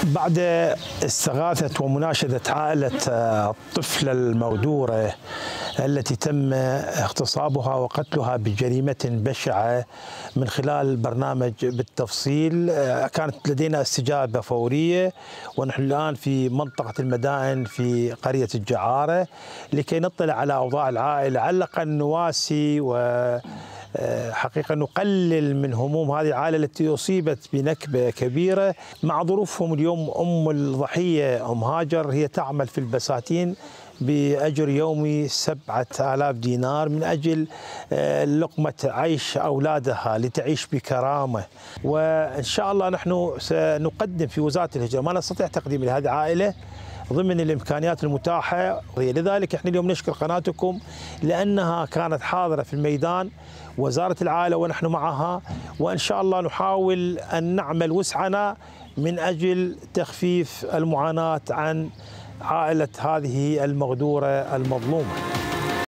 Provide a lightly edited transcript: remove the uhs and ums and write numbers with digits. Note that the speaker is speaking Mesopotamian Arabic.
بعد استغاثة ومناشدة عائلة الطفلة المغدورة التي تم اغتصابها وقتلها بجريمة بشعة من خلال برنامج بالتفصيل، كانت لدينا استجابة فورية، ونحن الآن في منطقة المدائن في قرية الجعارة لكي نطلع على أوضاع العائلة، على الأقل نواسي حقيقة نقلل من هموم هذه العائلة التي أصيبت بنكبة كبيرة مع ظروفهم. اليوم أم الضحية أم هاجر هي تعمل في البساتين بأجر يومي 7000 دينار من أجل لقمة عيش أولادها لتعيش بكرامة، وإن شاء الله نحن سنقدم في وزارة الهجرة ما نستطيع تقديم لهذه العائلة ضمن الإمكانيات المتاحة. لذلك احنا اليوم نشكر قناتكم لأنها كانت حاضرة في الميدان، وزارة العائلة ونحن معها، وإن شاء الله نحاول أن نعمل وسعنا من أجل تخفيف المعاناة عن عائلة هذه المغدورة المظلومة.